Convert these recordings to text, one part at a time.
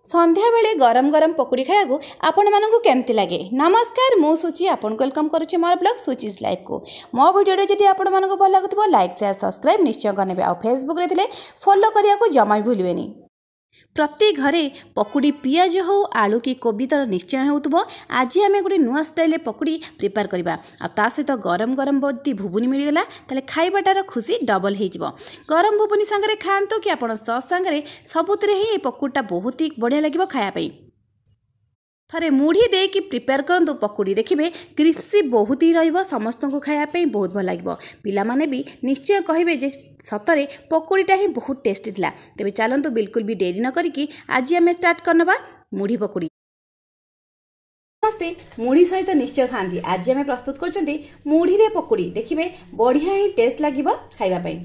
ସନ୍ଧ୍ୟାବେଳେ ଗରମ ଗରମ ପକୁଡ଼ି ଖାଇବାକୁ ଆପଣମାନଙ୍କୁ କେମିତି ଲାଗେ? ନମସ୍କାର, ମୁଁ ସୁଚି ଆପଣଙ୍କୁ welcome କରୁଛି ମୋର ବ୍ଲଗ୍ ସୁଚିଜ୍ ଲାଇଫ୍କୁ। ମୋ ଭିଡ଼ିଓଟି ଯଦି ଆପଣମାନଙ୍କୁ ଭଲ ଲାଗୁଥିବ, ଲାଇକ୍, ସେୟାର, ସବସ୍କ୍ରାଇବ୍ ନିଶ୍ଚୟ କରିନେବେ ଆଉ ଫେସବୁକ୍ରେ ଥିଲେ ଫଲୋ କରିବାକୁ ଜମା ବି ଭୁଲିବେନି। ପ୍ରତି ଘରେ ପକୁଡ଼ି ପିଆଜ ହେଉ, ଆଳୁ କି କୋବି ତାର ନିଶ୍ଚୟ ହେଉଥିବ। ଆଜି ଆମେ ଗୋଟେ ନୂଆ ଷ୍ଟାଇଲରେ ପକୁଡ଼ି ପ୍ରିପେୟାର କରିବା ଆଉ ତା ସହିତ ଗରମ ଗରମ ଯଦି ଘୁଗୁନି ମିଳିଗଲା, ତାହେଲେ ଖାଇବାଟାର ଖୁସି ଡବଲ୍ ହେଇଯିବ। ଗରମ ଘୁଗୁନି ସାଙ୍ଗରେ ଖାଆନ୍ତୁ କି ଆପଣ ସସ୍ ସାଙ୍ଗରେ, ସବୁଥିରେ ହିଁ ଏ ପକୁଡ଼ିଟା ବହୁତ ହି ବଢ଼ିଆ ଲାଗିବ ଖାଇବା ପାଇଁ। ଥରେ ମୁଢ଼ି ଦେଇକି ପ୍ରିପେୟାର କରନ୍ତୁ ପକୁଡ଼ି, ଦେଖିବେ କ୍ରିସ୍ପି ବହୁତ ହି ରହିବ, ସମସ୍ତଙ୍କୁ ଖାଇବା ପାଇଁ ବହୁତ ଭଲ ଲାଗିବ। ପିଲାମାନେ ବି ନିଶ୍ଚୟ କହିବେ ଯେ ସତରେ ପକୁଡ଼ିଟା ହିଁ ବହୁତ ଟେଷ୍ଟି ଥିଲା। ତେବେ ଚାଲନ୍ତୁ, ବିଲକୁଲ ବି ଡେରି ନ କରିକି ଆଜି ଆମେ ଷ୍ଟାର୍ଟ କରିନେବା ମୁଢ଼ି ପକୁଡ଼ି। ସମସ୍ତେ ମୁଢ଼ି ସହିତ ନିଶ୍ଚୟ ଖାଆନ୍ତି। ଆଜି ଆମେ ପ୍ରସ୍ତୁତ କରୁଛନ୍ତି ମୁଢ଼ିରେ ପକୁଡ଼ି, ଦେଖିବେ ବଢ଼ିଆ ହିଁ ଟେଷ୍ଟ ଲାଗିବ ଖାଇବା ପାଇଁ।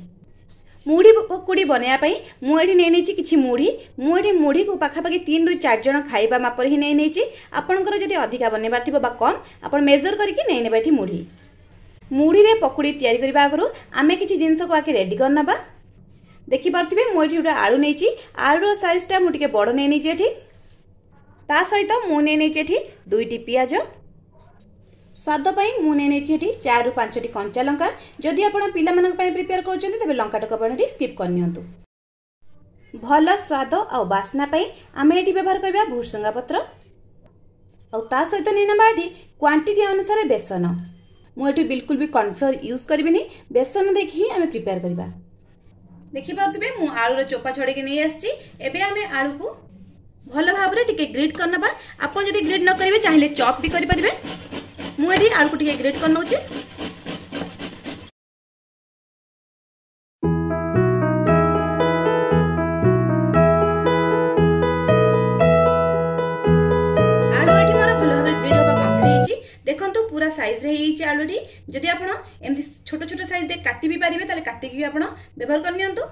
ମୁଢ଼ି ପକୁଡ଼ି ବନେଇବା ପାଇଁ ମୁଁ ଏଠି ନେଇ ନେଇଛି କିଛି ମୁଢ଼ି। ମୁଁ ଏଠି ମୁଢ଼ିକୁ ପାଖାପାଖି 3ରୁ 4 ଜଣ ଖାଇବା ମାପରେ ହିଁ ନେଇ ନେଇଛି। ଆପଣଙ୍କର ଯଦି ଅଧିକା ବନେଇବାର ଥିବ ବା କମ୍, ଆପଣ ମେଜର କରିକି ନେଇ ନେବେ ଏଠି ମୁଢ଼ି। ମୁଢ଼ିରେ ପକୁଡ଼ି ତିଆରି କରିବା ଆଗରୁ ଆମେ କିଛି ଜିନିଷକୁ ଆଗେ ରେଡ଼ି କରିନେବା। ଦେଖିପାରୁଥିବେ, ମୁଁ ଏଠି ଗୋଟେ ଆଳୁ ନେଇଛି। ଆଳୁର ସାଇଜଟା ମୁଁ ଟିକେ ବଡ଼ ନେଇ ନେଇଛି ଏଠି। ତା ସହିତ ମୁଁ ନେଇ ନେଇଛି ଏଠି 2ଟି ପିଆଜ। ସ୍ୱାଦ ପାଇଁ ମୁଁ ନେଇ ନେଇଛି ଏଠି 4ରୁ 5ଟି କଞ୍ଚା ଲଙ୍କା। ଯଦି ଆପଣ ପିଲାମାନଙ୍କ ପାଇଁ ପ୍ରିପେୟାର କରୁଛନ୍ତି, ତେବେ ଲଙ୍କାଟାକୁ ଆପଣ ଏଠି ସ୍କିପ୍ କରିନିଅନ୍ତୁ। ଭଲ ସ୍ୱାଦ ଆଉ ବାସ୍ନା ପାଇଁ ଆମେ ଏଠି ବ୍ୟବହାର କରିବା ଭୃସଙ୍ଗା ପତ୍ର ଆଉ ତା ସହିତ ନେଇ ନେବା ଏଠି କ୍ୱାଣ୍ଟିଟି ଅନୁସାରେ ବେସନ। ମୁଁ ଏଠି ବିଲକୁଲ ବି କର୍ଣ୍ଣଫ୍ଲୋର ୟୁଜ୍ କରିବିନି, ବେସନ ଦେଇକି ହିଁ ଆମେ ପ୍ରିପେୟାର କରିବା। ଦେଖିପାରୁଥିବେ, ମୁଁ ଆଳୁର ଚୋପା ଛଡ଼େଇକି ନେଇ ଆସିଛି। ଏବେ ଆମେ ଆଳୁକୁ ଭଲ ଭାବରେ ଟିକେ ଗ୍ରିଟ୍ କରିନେବା। ଆପଣ ଯଦି ଗ୍ରିଟ୍ ନ କରିବେ, ଚାହିଁଲେ ଚପ୍ ବି କରିପାରିବେ। ମୁଁ ଏଠି ଆଳୁକୁ ଟିକେ ଗ୍ରେଟ୍ କରିନେଉଛି। ଆଳୁ ଏଠି ମୋର ଭଲ ଭାବରେ ଗ୍ରେଟ୍ ହେବା କମ୍ପ୍ଲିଟ୍ ହେଇଛି। ଦେଖନ୍ତୁ, ପୁରା ସାଇଜ୍ରେ ହେଇଯାଇଛି ଆଳୁଟି। ଯଦି ଆପଣ ଏମିତି ଛୋଟ ଛୋଟ ସାଇଜ୍ରେ କାଟି ବି ପାରିବେ, ତାହେଲେ କାଟିକି ବି ଆପଣ ବ୍ୟବହାର କରିନିଅନ୍ତୁ।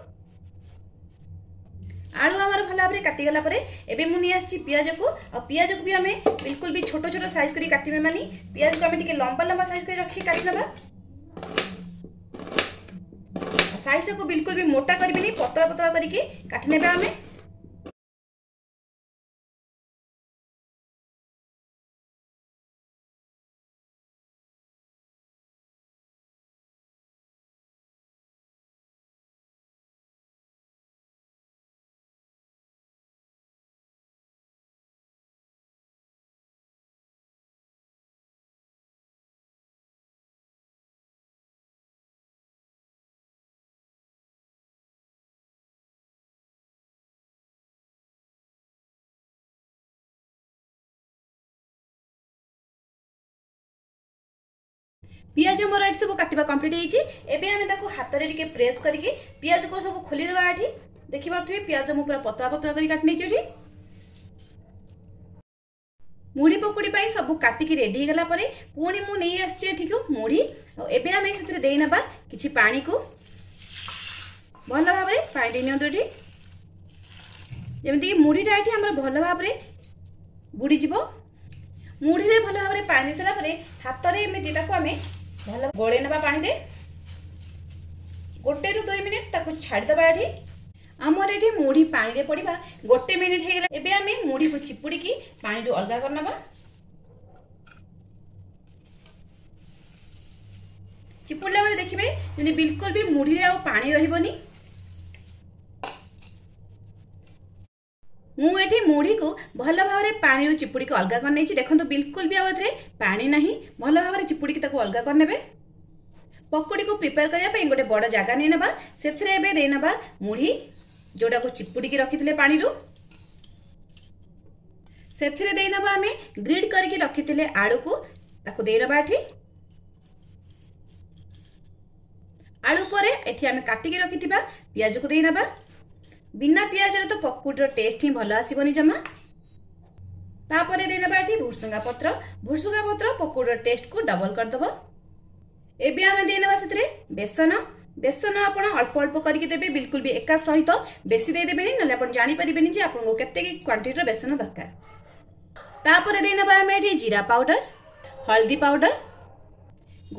ଆଳୁ ଆମର ଭଲ ଭାବରେ କାଟିଗଲା ପରେ ଏବେ ମୁଁ ନେଇ ଆସିଛି ପିଆଜକୁ। ଆଉ ପିଆଜକୁ ବି ଆମେ ବିଲକୁଲ ବି ଛୋଟ ଛୋଟ ସାଇଜ୍ କରି କାଟିବେ ମାନେ, ପିଆଜକୁ ଆମେ ଟିକେ ଲମ୍ବା ଲମ୍ବା ସାଇଜ୍ କରି ରଖିକି କାଟି ନେବା। ସାଇଜଟାକୁ ବିଲକୁଲ ବି ମୋଟା କରିବେନି, ପତଳା ପତଳା କରିକି କାଟି ନେବା ଆମେ। ପିଆଜ ମୋର ଏଠି ସବୁ କାଟିବା କମ୍ପ୍ଲିଟ୍ ହେଇଛି। ଏବେ ଆମେ ତାକୁ ହାତରେ ଟିକେ ପ୍ରେସ୍ କରିକି ପିଆଜକୁ ସବୁ ଖୋଲିଦେବା। ଏଠି ଦେଖିପାରୁଥିବେ, ପିଆଜ ମୁଁ ପୁରା ପତଳା ପତଳା କରି କାଟି ନେଇଛି। ଏଠି ମୁଢ଼ି ପକୁଡ଼ି ପାଇଁ ସବୁ କାଟିକି ରେଡି ହେଇଗଲା ପରେ ପୁଣି ମୁଁ ନେଇ ଆସିଛି ଏଠିକୁ ମୁଢ଼ି। ଆଉ ଏବେ ଆମେ ସେଥିରେ ଦେଇନେବା କିଛି ପାଣିକୁ। ଭଲ ଭାବରେ ପାଣି ଦେଇ ନିଅନ୍ତୁ ଏଠି, ଯେମିତିକି ମୁଢ଼ିଟା ଏଠି ଆମର ଭଲ ଭାବରେ ବୁଡ଼ିଯିବ। ମୁଢ଼ିରେ ଭଲ ଭାବରେ ପାଣି ଦେଇ ସାରିଲା ପରେ ହାତରେ ଏମିତି ତାକୁ ଆମେ ଭଲ ଗୋଳେଇ ନେବା ପାଣିରେ। 1ରୁ 2 ମିନିଟ୍ ତାକୁ ଛାଡ଼ିଦେବା। ଏଠି ଆମର ଏଠି ମୁଢ଼ି ପାଣିରେ ପଡ଼ିବା 1 ମିନିଟ୍ ହେଇଗଲା। ଏବେ ଆମେ ମୁଢ଼ିକୁ ଚିପୁଡ଼ିକି ପାଣିରୁ ଅଲଗା କରିନେବା। ଚିପୁଡ଼ିଲା ବେଳେ ଦେଖିବେ ଯେମିତି ବିଲକୁଲ ବି ମୁଢ଼ିରେ ଆଉ ପାଣି ରହିବନି। ମୁଁ ଏଠି ମୁଢ଼ିକୁ ଭଲ ଭାବରେ ପାଣିରୁ ଚିପୁଡ଼ିକି ଅଲଗା କରିନେଇଛି। ଦେଖନ୍ତୁ, ବିଲକୁଲ ବି ଆଉ ଏଥିରେ ପାଣି ନାହିଁ। ଭଲ ଭାବରେ ଚିପୁଡ଼ିକି ତାକୁ ଅଲଗା କରିନେବେ। ପକୁଡ଼ିକୁ ପ୍ରିପେୟାର କରିବା ପାଇଁ ଗୋଟେ ବଡ଼ ଜାଗା ନେଇନେବା। ସେଥିରେ ଏବେ ଦେଇନେବା ମୁଢ଼ି, ଯେଉଁଟାକୁ ଚିପୁଡ଼ିକି ରଖିଥିଲେ ପାଣିରୁ। ସେଥିରେ ଦେଇନେବା ଆମେ ଗ୍ରିଡ୍ କରିକି ରଖିଥିଲେ ଆଳୁକୁ, ତାକୁ ଦେଇନେବା ଏଠି। ଆଳୁ ପରେ ଏଠି ଆମେ କାଟିକି ରଖିଥିବା ପିଆଜକୁ ଦେଇନେବା। ବିନା ପିଆଜରେ ତ ପକୁଡ଼ିର ଟେଷ୍ଟ ହିଁ ଭଲ ଆସିବନି ଜମା। ତାପରେ ଦେଇନେବା ଏଠି ଭୃସୁଙ୍ଗା ପତ୍ର। ଭୃସୁଙ୍ଗା ପତ୍ର ପକୁଡ଼ିର ଟେଷ୍ଟକୁ ଡବଲ କରିଦେବ। ଏବେ ଆମେ ଦେଇନେବା ସେଥିରେ ବେସନ। ବେସନ ଆପଣ ଅଳ୍ପ ଅଳ୍ପ କରିକି ଦେବେ, ବିଲକୁଲ ବି ଏକା ସହିତ ବେଶୀ ଦେଇଦେବେନି, ନହେଲେ ଆପଣ ଜାଣିପାରିବେନି ଯେ ଆପଣଙ୍କୁ କେତେ କ୍ୱାଣ୍ଟିଟିର ବେସନ ଦରକାର। ତାପରେ ଦେଇନେବା ଆମେ ଏଠି ଜିରା ପାଉଡର, ହଳଦୀ ପାଉଡର,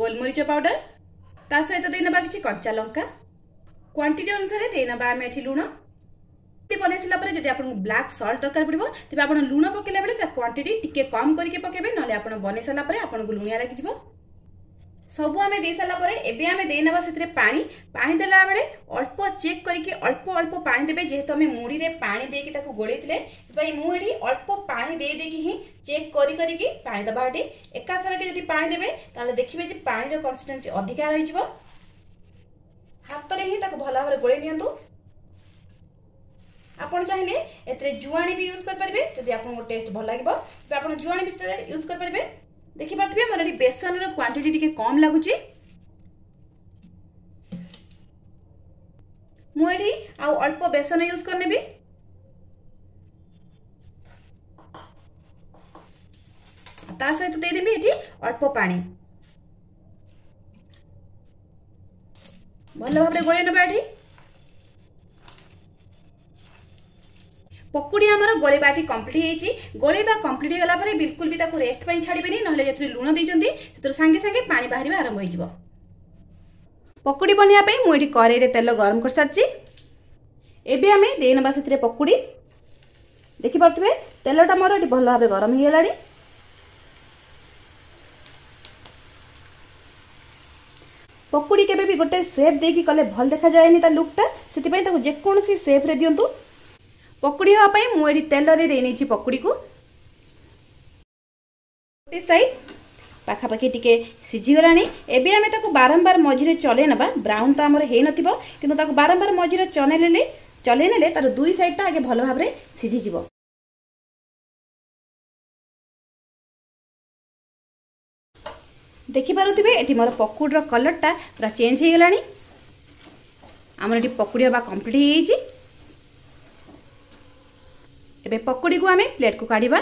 ଗୋଲମରିଚ ପାଉଡର। ତା ସହିତ ଦେଇନେବା କିଛି କଞ୍ଚା ଲଙ୍କା। କ୍ୱାଣ୍ଟିଟି ଅନୁସାରେ ଦେଇନେବା ଆମେ ଏଠି ଲୁଣ। ବନେଇ ସାରିଲା ପରେ ଯଦି ଆପଣଙ୍କୁ ବ୍ଲାକ୍ ସଲ୍ଟ ଦରକାର ପଡ଼ିବ, ତେବେ ଆପଣ ଲୁଣ ପକାଇଲା ବେଳେ ତା କ୍ୱାଣ୍ଟିଟି ଟିକେ କମ୍ କରିକି ପକାଇବେ, ନହେଲେ ଆପଣ ବନେଇ ସାରିଲା ପରେ ଆପଣଙ୍କୁ ଲୁଣିଆ ଲାଗିଯିବ। ସବୁ ଆମେ ଦେଇ ସାରିଲା ପରେ ଏବେ ଆମେ ଦେଇନେବା ସେଥିରେ ପାଣି। ପାଣି ଦେଲା ବେଳେ ଅଳ୍ପ ଚେକ୍ କରିକି ଅଳ୍ପ ଅଳ୍ପ ପାଣି ଦେବେ। ଯେହେତୁ ଆମେ ମୁଢ଼ିରେ ପାଣି ଦେଇକି ତାକୁ ଗୋଳେଇଥିଲେ, ସେଥିପାଇଁ ମୁଁ ଏଠି ଅଳ୍ପ ପାଣି ଦେଇ ଦେଇକି ହିଁ ଚେକ୍ କରି କରିକି ପାଣି ଦେବା। ଏଠି ଏକାଥରକେ ଯଦି ପାଣି ଦେବେ, ତାହେଲେ ଦେଖିବେ ଯେ ପାଣିର କନସିଷ୍ଟେନ୍ସି ଅଧିକା ରହିଯିବ। ହାତରେ ହିଁ ତାକୁ ଭଲ ଭାବରେ ଗୋଳେଇ ନିଅନ୍ତୁ। ଆପଣ ଚାହିଁଲେ ଏଥିରେ ଜୁଆଣି ବି ୟୁଜ୍ କରିପାରିବେ। ଯଦି ଆପଣଙ୍କୁ ଟେଷ୍ଟ ଭଲ ଲାଗିବ, ତେବେ ଆପଣ ଜୁଆଣି ବି ୟୁଜ୍ କରିପାରିବେ। ଦେଖିପାରୁଥିବେ, ମୋର ଏଠି ବେସନର କ୍ୱାଣ୍ଟିଟି ଟିକେ କମ୍ ଲାଗୁଛି। ମୁଁ ଏଠି ଆଉ ଅଳ୍ପ ବେସନ ୟୁଜ୍ କରିନେବି। ତା ସହିତ ଦେଇଦେବି ଏଠି ଅଳ୍ପ ପାଣି। ଭଲ ଭାବରେ ଗୋଳେଇ ନେବା। ଏଠି ପକୁଡ଼ି ଆମର ଗୋଳେଇବା ଏଠି କମ୍ପ୍ଲିଟ୍ ହେଇଛି। ଗୋଳେଇବା କମ୍ପ୍ଲିଟ୍ ହେଇଗଲା ପରେ ବିଲକୁଲ ବି ତାକୁ ରେଷ୍ଟ ପାଇଁ ଛାଡ଼ିବେନି, ନହେଲେ ଯେଥିରେ ଲୁଣ ଦେଇଛନ୍ତି ସେଥିରୁ ସାଙ୍ଗେ ସାଙ୍ଗେ ପାଣି ବାହାରିବା ଆରମ୍ଭ ହେଇଯିବ। ପକୁଡ଼ି ବନେଇବା ପାଇଁ ମୁଁ ଏଠି କରେଇରେ ତେଲ ଗରମ କରିସାରିଛି। ଏବେ ଆମେ ଦେଇନେବା ସେଥିରେ ପକୁଡ଼ି। ଦେଖିପାରୁଥିବେ, ତେଲଟା ମୋର ଏଠି ଭଲ ଭାବରେ ଗରମ ହେଇଗଲାଣି। ପକୁଡ଼ି କେବେ ବି ଗୋଟେ ସେପ୍ ଦେଇକି କଲେ ଭଲ ଦେଖାଯାଏନି ତା ଲୁକ୍ଟା, ସେଥିପାଇଁ ତାକୁ ଯେକୌଣସି ସେପ୍ରେ ଦିଅନ୍ତୁ। ପକୁଡ଼ି ହେବା ପାଇଁ ମୁଁ ଏଠି ତେଲରେ ଦେଇ ନେଇଛି ପକୁଡ଼ିକୁ। ଗୋଟେ ସାଇଡ୍ ପାଖାପାଖି ଟିକେ ସିଝିଗଲାଣି। ଏବେ ଆମେ ତାକୁ ବାରମ୍ବାର ମଝିରେ ଚଲେଇ ନେବା। ବ୍ରାଉନ୍ ତ ଆମର ହେଇନଥିବ, କିନ୍ତୁ ତାକୁ ବାରମ୍ବାର ମଝିରେ ଚଲେଇ ନେଲେ ତାର ଦୁଇ ସାଇଡ଼୍ଟା ଆଗେ ଭଲ ଭାବରେ ସିଝିଯିବ। ଦେଖିପାରୁଥିବେ, ଏଠି ମୋର ପକୁଡ଼ିର କଲର୍ଟା ପୁରା ଚେଞ୍ଜ ହେଇଗଲାଣି। ଆମର ଏଠି ପକୁଡ଼ି ହେବା କମ୍ପ୍ଲିଟ୍ ହେଇଯାଇଛି। ଏବେ ପକୁଡ଼ିକୁ ଆମେ ପ୍ଲେଟ୍କୁ କାଢ଼ିବା।